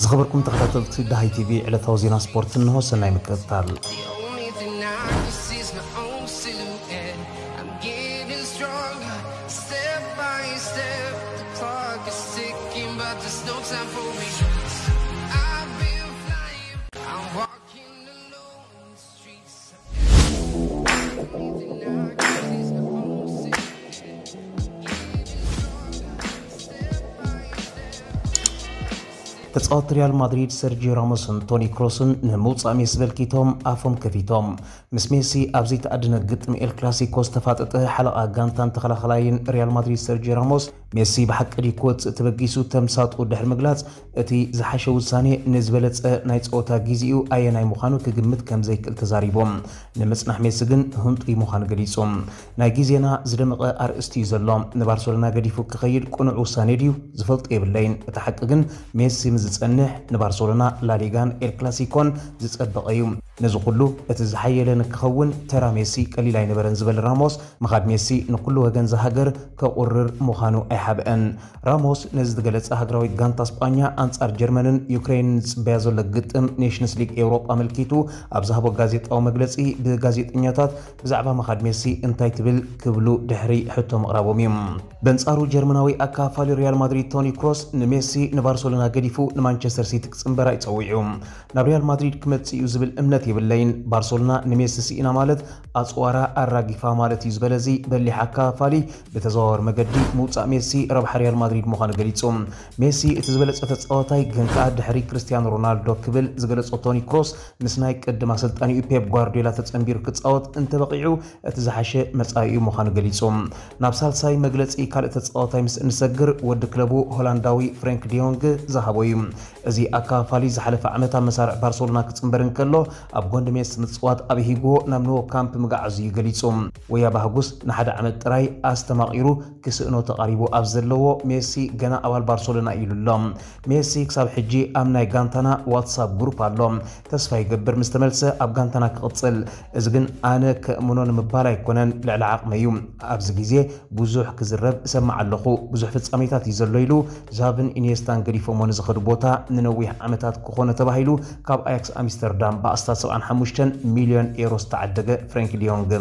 ዝኸበርኩም ተኸታተልቲ ደሃይ ቲቪ፣ ዕለታዊ ዜና ስፖርት እንሆ። ሰናይ ምክትታል። The only thing I can see is my own silhouette. I'm getting stronger, step by step. The clock is ticking, but there's no time for me. I've been flying, I'm walking alone in the streets. The only thing I can see is my own silhouette. I'm getting stronger, step by step. ተጻወትቲ ሪያል ማድሪድ ሰርጂዮ ራሞስን ቶኒ ክሮስን ንምውጻእ ሜሲ በልኪቶም ኣፎም ከፊቶም። ምስ ሜሲ ኣብ ዘይተኣደነ ግጥም ኤል ክላሲኮ ዝተፋጠጠ ሓለቓ ጋንታን ተኸላኸላይን ሪያል ማድሪድ ሰርጂዮ ራሞስ፣ ሜሲ ብሓቂ ድዩ ክወጽእ ተበጊሱ ተምሳጡ ድሕሪ ምግላጽ፣ እቲ ዝሓሸ ውሳኔ ንዝበለጸ ናይ ጸወታ ግዜኡ ኣየናይ ምዃኑ ክግምት ከም ዘይክእል ተዛሪቦም። ንምጽናሕ ሜሲ ግን ህንጡይ ምዃኑ ገሊጹ። ናይ ግዜና ዝደመቐ ኣርእስቲ እዩ ዘሎ። ንባርሰሎና ገዲፉ ክኸይድ ቅኑዕ ውሳኔ ድዩ? ዝፈልጦ የብለይን። እቲ ሓቂ ግን ሜሲ ምስ ዝጸንሕ ንባርሰሎና ላሊጋን ኤል ክላሲኮን ዝጸበቐ እዩ። ነዚ ኩሉ እቲ ዝሓየለ ንክኸውን ተራ ሜሲ ቀሊል ኣይነበረን ዝበለ ራሞስ፣ ምኻድ ሜሲ ንኩሉ ወገን ዝሃገር ከቑርር ምዃኑ ኣይሓብአን። ራሞስ ነዚ ዝገለጸ ሃገራዊት ጋንታ ስጳኛ ኣንጻር ጀርመንን ዩክሬንን ዝጽበያ ዘሎ ግጥም ኔሽንስ ሊግ ኤውሮጳ ኣመልኪቱ ኣብ ዝሃቦ ጋዜጣዊ መግለጺ ብጋዜጠኛታት ብዛዕባ ምኻድ ሜሲ እንታይ ትብል ክብሉ ድሕሪ ሕቶ ምቕራቦም እዩ። በንጻሩ ጀርመናዊ ኣካፋሊ ሪያል ማድሪድ ቶኒ ክሮስ ንሜሲ ንባርሰሎና ገዲፉ ንማንቸስተር ሲቲ ክጽንበር ኣይጸዊዑ። ናብ ሪያል ማድሪድ ክመጽእ እዩ ዝብል እምነት የብለይን። ባርሰሎና ንሜሲ ስኢና ማለት ኣጽዋራ ኣራጊፋ ማለት እዩ ዝበለ እዚ በሊሕ ኣካፋሊ ብተዘዋዋሪ መገዲ ምውጻእ ሜሲ ረብሓ ሪያል ማድሪድ ምዃኑ ገሊጹ። ሜሲ እቲ ዝበለጸ ተጻዋታይ ግን ከኣ ድሕሪ ክርስቲያኖ ሮናልዶ ክብል ዝገለጾ ቶኒ ክሮስ ምስ ናይ ቅድም ኣሰልጣኒኡ ፔፕ ጓርዲዮላ ተጸንቢሩ ክጻወት እንተበቒዑ እቲ ዝሓሸ መጻኢኡ ምዃኑ ገሊጹ። ናብ ሳልሳይ መግለጺ ካልእ ተጻዋታይ ምስ እንሰግር ወዲ ክለቡ ሆላንዳዊ ፍሬንክ ዲዮንግ ዝሃቦ እዩ። እዚ ኣካፋሊ ዝሓለፈ ዓመት ኣብ መሳርዕ ባርሰሎና ክጽንበር እንከሎ ኣብ ጎንዲ ሜሲ ምጽዋት ኣብ ሂጎ ናብ ኖ ካምፕ ምግዓዙ እዩ ገሊጹ። ወያ ባህጉስ ንሓደ ዓመት ጥራይ ኣስተማቒሩ ክስእኖ ተቓሪቡ ኣብ ዘለዎ ሜሲ ገና ኣባል ባርሰሎና ኢሉ ኣሎ። ሜሲ ክሳብ ሕጂ ኣብ ናይ ጋንታና ዋትሳፕ ግሩፕ ኣሎ። ተስፋ ይገብር ምስ ተመልሰ ኣብ ጋንታና ክቕጽል። እዚ ግን ኣነ ከእምኖ ንምባል ኣይኮነን፣ ልዕሊ ዓቕመይ እዩ። ኣብዚ ግዜ ብዙሕ ክዝረብ እሰምዕ ኣለኹ። ብዙሕ ፍጻሜታት እዩ ዘሎ ኢሉ ዛቪን ኢኒየስታን ገዲፎሞ ንዝኸዱ ቦታ ንነዊሕ ዓመታት ክኾኖ ተባሂሉ ካብ ኣያክስ ኣምስተርዳም ብኣስታት ሰብዓን ሓሙሽተን ሚልዮን ኤሮ ዝተዓደገ ፍሬንክ ዲዮንግ።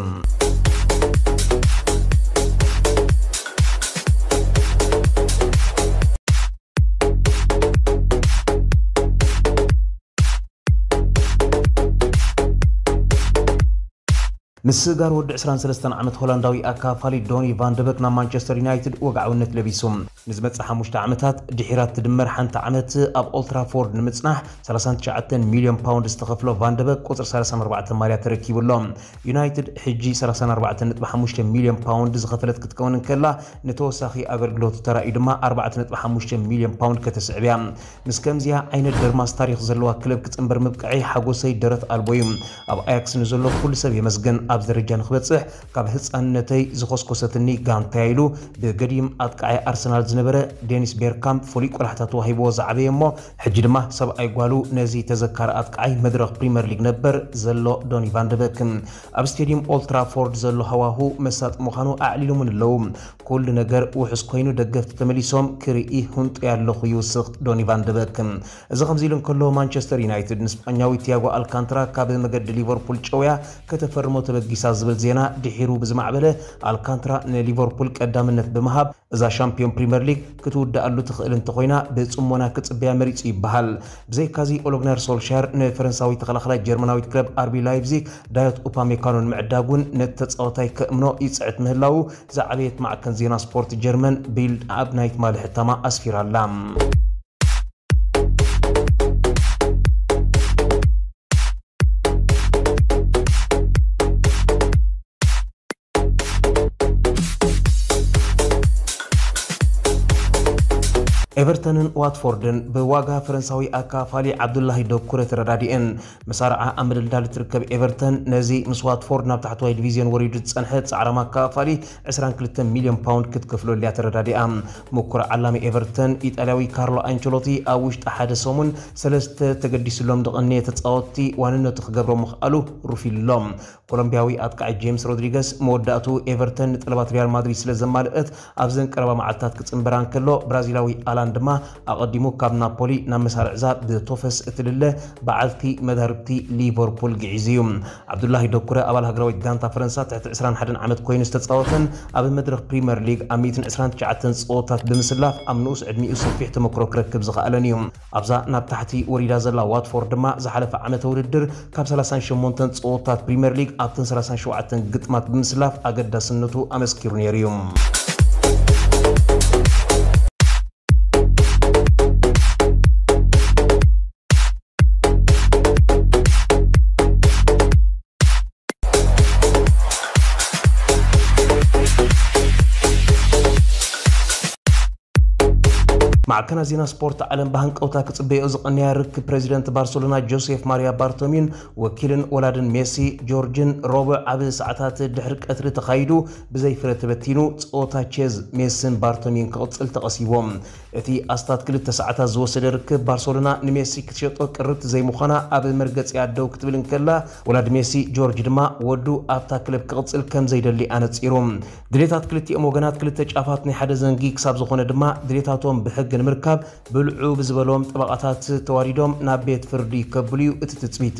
ምስጋር ወዲ ዕስራን ሰለስተን ዓመት ሆላንዳዊ ኣካፋሊ ዶኒ ቫንደበክ ናብ ማንቸስተር ዩናይትድ ወግዓውነት ለቢሱ። ንዝመጽእ ሓሙሽተ ዓመታት ድሒራ እትድመር ሓንቲ ዓመት ኣብ ኦልትራፎርድ ንምጽናሕ ሰላሳን ትሽዓተን ሚልዮን ፓውንድ ዝተኸፍሎ ቫንደበክ ቁጽሪ ሰላሳን ኣርባዕተን ማልያ ተረኪቡ ኣሎ። ዩናይትድ ሕጂ ሰላሳን ኣርባዕተን ነጥቢ ሓሙሽተ ሚልዮን ፓውንድ ዝኸፈለት ክትከውን እንከላ፣ ንተወሳኺ ኣገልግሎቱ ተራእዩ ድማ ኣርባዕተ ነጥቢ ሓሙሽተ ሚልዮን ፓውንድ ከተስዕብ እያ። ምስ ከምዚኣ ዓይነት ደርማስ ታሪኽ ዘለዋ ክለብ ክጽንበር ምብቃዐይ ሓጎሰይ ደረት ኣልቦ እዩ። ኣብ ኣያክስ ንዘሎ ኩሉ ሰብ የመስግን። ኣብ ደረጃ ንክበጽሕ ካብ ህጻንነተይ ዝኾስኮሰትኒ ጋንታያ ኢሉ ብገዲም ኣጥቃዓይ ኣርሰናል ዝነበረ ዴኒስ ቤርካምፕ ፍሉይ ቆላሕታ ተዋሂብዎ ዝዓበየ እሞ ሕጂ ድማ ሰብኣይ ጓሉ ነዚ ተዘካሪ ኣጥቃዓይ መድረኽ ፕሪምየር ሊግ ነበር ዘሎ ዶኒ ቫንደበክ። ኣብ ስቴድየም ኦልትራፎርድ ዘሎ ሃዋሁ መሳጢ ምዃኑ ኣዕሊሎምን ኣለዉ። ኩሉ ነገር ውሑስ ኮይኑ ደገፍቲ ተመሊሶም ክርኢ ህንጡይ ኣለኹ ይውስኽ ዶኒ ቫንደበክ። እዚ ከምዚ ኢሉ እንከሎ ማንቸስተር ዩናይትድ ንስጳኛዊ ቲያጎ ኣልካንትራ ካብ መገዲ ሊቨርፑል ጨውያ ከተፈርሞ ተበጊሳ ዝብል ዜና ድሒሩ ብዝማዕበለ ኣልካንትራ ንሊቨርፑል ቀዳምነት ብምሃብ እዛ ሻምፒዮን ፕሪምየር ሊግ ክትውድኣሉ ትኽእል እንተኾይና ብጽሞና ክጽበያ መሪጹ ይበሃል። ብዘይካዚ ኦሎግናር ሶልሻር ንፈረንሳዊ ተኸላኸላይ ጀርመናዊት ክለብ ኣርቢ ላይፕዚግ ዳዮት ኡፓሜካኖ ንምዕዳግ እውን ነቲ ተጻዋታይ ከእምኖ ይጽዕት ምህላዉ ዝዓበየት ማዕከን ዜና ስፖርት ጀርመን ቢልድ ኣብ ናይ ትማሊ ሕታማ ኣስፊራ ኣላ። ኤቨርተንን ዋትፎርድን ብዋጋ ፈረንሳዊ ኣካፋሊ ዓብዱላሂ ዶኩረ ተረዳዲኤን። መሳርዓ ኣብ ምድልዳል እትርከብ ኤቨርተን ነዚ ምስ ዋትፎርድ ናብ ታሕተዋይ ዲቪዝዮን ወሪዱ ዝጸንሐ ጻዕራም ኣካፋሊ ዕስራን ክልተን ሚልዮን ፓውንድ ክትከፍለሉ እያ ተረዳዲኣ። ምኩር ዓላሚ ኤቨርተን ኢጣልያዊ ካርሎ ኣንቸሎቲ ኣብ ውሽጢ ሓደ ሰሙን ሰለስተ ተገዲስሎም ዝቐነየ ተጻወትቲ ዋንነቱ ክገብሮም ምኽኣሉ ሩፍ ኢሉ ኣሎ። ኮሎምቢያዊ ኣጥቃዒ ጄምስ ሮድሪገስ መወዳእቱ ኤቨርተን ንጠለባት ሪያል ማድሪድ ስለ ዘማልአት ኣብዘን ቀረባ መዓልታት ክጽንበራ እንከሎ ብራዚላዊ ኣላን ድማ ኣቐዲሙ ካብ ናፖሊ ናብ መሳርዕዛ ብቶፈስ እትልለ በዓልቲ መዳርብቲ ሊቨርፑል ግዒዙ እዩ። ዓብዱላሂ ደኩረ ኣባል ሃገራዊት ጋንታ ፈረንሳ ትሕቲ ዕስራን ሓደን ዓመት ኮይኑ ዝተጻወተን ኣብ መድረኽ ፕሪምየር ሊግ ኣብ ሚእትን ዕስራን ትሽዓተን ጸወታት ብምስላፍ ኣብ ንኡስ ዕድሚኡ ሰፊሕ ተመክሮ ክረክብ ዝኸኣለን እዩ። ኣብዛ ናብ ታሕቲ ወሪዳ ዘላ ዋትፎርድ ድማ ዝሓለፈ ዓመተ ውድድር ካብ ሰላሳን ሸሞንተን ጸወታት ፕሪምየር ሊግ ኣብተን ሰላሳን ሸውዓተን ግጥማት ብምስላፍ ኣገዳስነቱ ኣመስኪሩ ነይሩ እዩ። ማዕከናት ዜና ስፖርት ዓለም ብሃንቀውታ ክጽበዮ ዝቐነያ ርክብ ፕሬዚደንት ባርሰሎና ጆሴፍ ማሪያ ባርቶሚን ወኪልን ወላድን ሜሲ ጆርጅን ረቡዕ ኣብ ሰዓታት ድሕሪ ቀትሪ ተኻይዱ ብዘይ ፍረ ተበቲኑ ጸወታ ቼዝ ሜስን ባርቶሚን ክቕጽል ተቐሲዎም። እቲ ኣስታት ክልተ ሰዓታት ዝወሰደ ርክብ ባርሰሎና ንሜሲ ክትሸጦ ቅርብቲ ዘይምዃና ኣብ መርገጺኣ ደው ክትብል እንከላ፣ ወላድ ሜሲ ጆርጅ ድማ ወዱ ኣብታ ክለብ ክቕጽል ከም ዘይደሊ ኣነጺሩ። ድሌታት ክልቲኦም ወገናት ክልተ ጫፋት ናይ ሓደ ዘንጊ ክሳብ ዝኾነ ድማ ድሌታቶም ብሕጊ ንምርካብ ብልዑ ብዝበሎም ጠበቓታት ተዋዲዶም ናብ ቤት ፍርዲ ከብሉ እዩ እቲ ትጽቢት።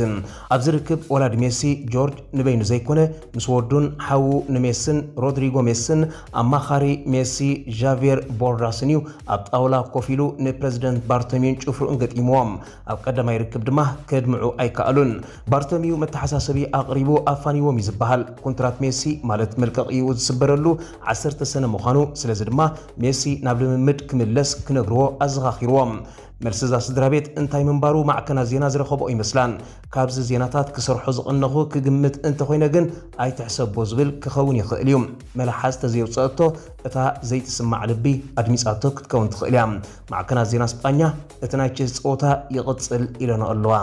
ኣብዚ ርክብ ወላድ ሜሲ ጆርጅ ንበይኑ ዘይኮነ ምስ ወዱን ሓዉ ንሜስን ሮድሪጎ ሜስን ኣማኻሪ ሜሲ ዣቪየር ቦርዳስን እዩ ኣብ ጣውላ ኮፍ ኢሉ ንፕረዚደንት ባርቶሚዩን ጭፍርኡን ገጢምዎም። ኣብ ቀዳማይ ርክብ ድማ ከድምዑ ኣይከኣሉን። ባርቶሚዩ መተሓሳሰቢ ኣቕሪቡ ኣፋኒዎም እዩ ዝበሃል። ኮንትራት ሜሲ ማለት መልቀቒኡ ዝስበረሉ ዓሰርተ ሰነ ምዃኑ፣ ስለዚ ድማ ሜሲ ናብ ልምምድ ክምለስ ክነግርዎ ኣዘኻኺርዎም። መልሲ እዛ ስድራ ቤት እንታይ ምንባሩ ማዕከናት ዜና ዝረኸብኦ ይመስላን። ካብዚ ዜናታት ክሰርሖ ዝቐነኹ ክግምት እንተኾይነ ግን ኣይትሕሰቦ ዝብል ክኸውን ይኽእል እዩ። መላሓዝ ተዘየውፀአቶ እታ ዘይትስማዕ ልቢ ኣድሚፃቶ ክትከውን ትኽእል እያ። ማዕከናት ዜና ስጳኛ እቲ ናይ ቼዝ ፀወታ ይቕፅል ኢለንኦ ኣለዋ።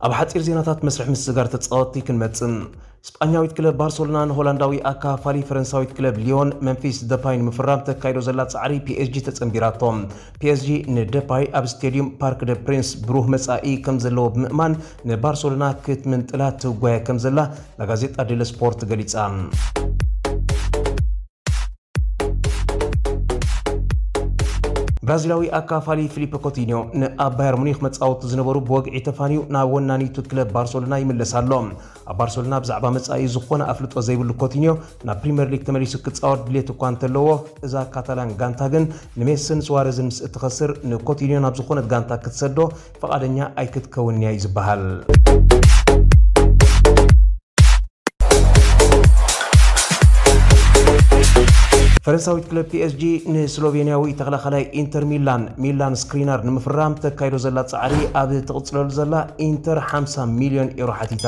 ኣብ ሓጺር ዜናታት መስርሕ ምስግጋር ተጻወትቲ ክንመጽእ። ስጳኛዊት ክለብ ባርሰሎና ንሆላንዳዊ ኣካፋሊ ፈረንሳዊት ክለብ ሊዮን መምፊስ ደፓይ ንምፍራም ተካይዶ ዘላ ጻዕሪ ፒ ኤስ ጂ ተጸንቢራቶ። ፒ ኤስ ጂ ንደፓይ ኣብ ስቴድዩም ፓርክ ደ ፕሪንስ ብሩህ መጻኢ ከም ዘለዎ ብምእማን ንባርሰሎና ክትምንጥላ ትጓየ ከም ዘላ ላጋዜጣ ዴለ ስፖርት ገሊጻ። ብራዚላዊ ኣካፋሊ ፊሊፕ ኮቲኒዮ ንኣብ ባየር ሙኒክ መጻወቱ ዝነበሩ ብወግዒ ተፋንዩ ናብ ወናኒቱ ክለብ ባርሰሎና ይምለስ ኣሎ። ኣብ ባርሰሎና ብዛዕባ መጻኢ ዝኾነ ኣፍልጦ ዘይብሉ ኮቲኒዮ ናብ ፕሪምየር ሊግ ተመሊሱ ክጻወት ድሌት እኳ እንተለዎ፣ እዛ ካታላን ጋንታ ግን ንሜስን ሱዋረዝን ምስ እትኸስር ንኮቲኒዮ ናብ ዝኾነት ጋንታ ክትሰዶ ፍቓደኛ ኣይክትከውንን እያ እዩ ዝበሃል። ፈረንሳዊት ክለብ ፒ ኤስ ጂ ንስሎቬንያዊ ተኸላኻላይ ኢንተር ሚላን ሚላን ስክሪናር ንምፍራም ተካይዶ ዘላ ጻዕሪ ኣብ ትቕጽለሉ ዘላ ኢንተር ሓምሳ ሚልዮን ኤሮ ሓቲታ።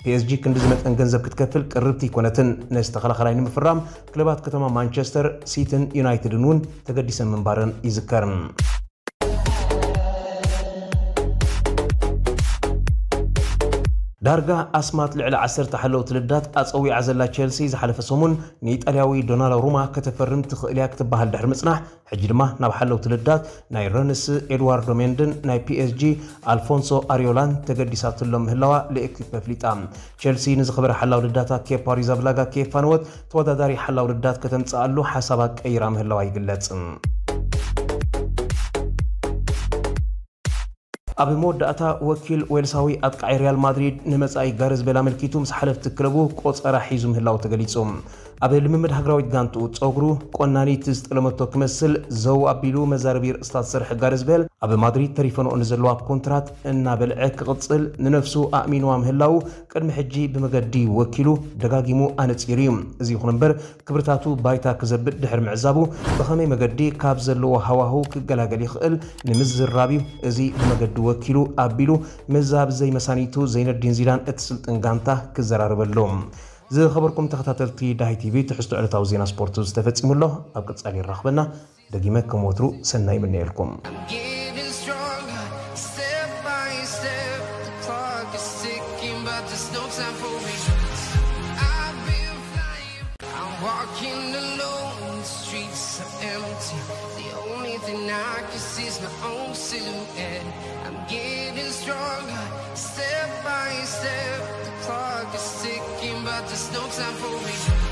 ፒ ኤስ ጂ ክንዲ ዝመጠን ገንዘብ ክትከፍል ቅርብቲ ኣይኮነትን። ነዚ ተኸላኻላይ ንምፍራም ክለባት ከተማ ማንቸስተር ሲቲን ዩናይትድን እውን ተገዲሰን ምንባረን ይዝከር። ዳርጋ ኣስማት ልዕሊ ዓሰርተ ሓለውቲ ልዳት ኣጸዊዓ ዘላ ቸልሲ ዝሓለፈ ሰሙን ንኢጣልያዊ ዶናሩማ ከተፈርም ትኽእል እያ ክትበሃል ድሕሪ ምጽናሕ፣ ሕጂ ድማ ናብ ሓለውቲ ልዳት ናይ ረንስ ኤድዋርዶ ሜንድን ናይ ፒ ኤስ ጂ ኣልፎንሶ ኣሪዮላን ተገዲሳትሎም ምህላዋ ለኤኪፕ ኣፍሊጣ። ቸልሲ ንዝኸበረ ሓላው ልዳታ ኬፓ ሪዛብላጋ ከየፋነወት ተወዳዳሪ ሓላው ልዳት ከተምጽኣሉ ሓሳባ ቀይራ ምህላዋ ይግለጽ። ኣብ መወዳእታ ወኪል ዌልሳዊ ኣጥቃዒ ሪያል ማድሪድ ንመጻኢ ጋርዝ ቤል ኣመልኪቱ ምስ ሓለፍቲ ክለቡ ቆጸራ ሒዙ ምህላው ተገሊጹ። ኣብ ልምምድ ሃገራዊት ጋንትኡ ጸጉሩ ቆናኒት ዝጠለመቶ ክመስል ዘው ኣቢሉ መዛረቢ ርእስታት ዝሰርሐ ጋርዝ ቤል ኣብ ማድሪድ ተሪፈንኦ ንዘለዋ ኮንትራት እናበልዐ ክቕጽል ንነፍሱ ኣእሚንዋ ምህላው ቅድሚ ሕጂ ብመገዲ ወኪሉ ደጋጊሙ ኣነጺሩ እዩ። እዚ ይኹን እምበር ክብርታቱ ባይታ ክዘብጥ ድሕሪ ምዕዛቡ ብኸመይ መገዲ ካብ ዘለዎ ሃዋህው ክገላገል ይኽእል ንምዝራብ እዩ። እዚ ብመገዲ ወኪሉ ኣቢሉ ምዛብ ዘይመሳኒቱ ዘይነዲን ዚዳን እቲ ስልጥን ጋንታ ክዘራረበሉ። ዝኸበርኩም ተኸታተልቲ ዳሃይ ቲቪ ትሕዝቶ ዕለታዊ ዜና ስፖርት ዝተፈጺሙ ኣሎ። ኣብ ቀጻሊ ይራኽበና። ደጊመ ከም ወትሩ ሰናይ ይምነየልኩም። I'm getting stronger, step by step. The clock is ticking, but there's no time for me. I've been flying. I'm walking alone, the streets are empty. The only thing I can see is my own silhouette. I'm getting There's no time for me.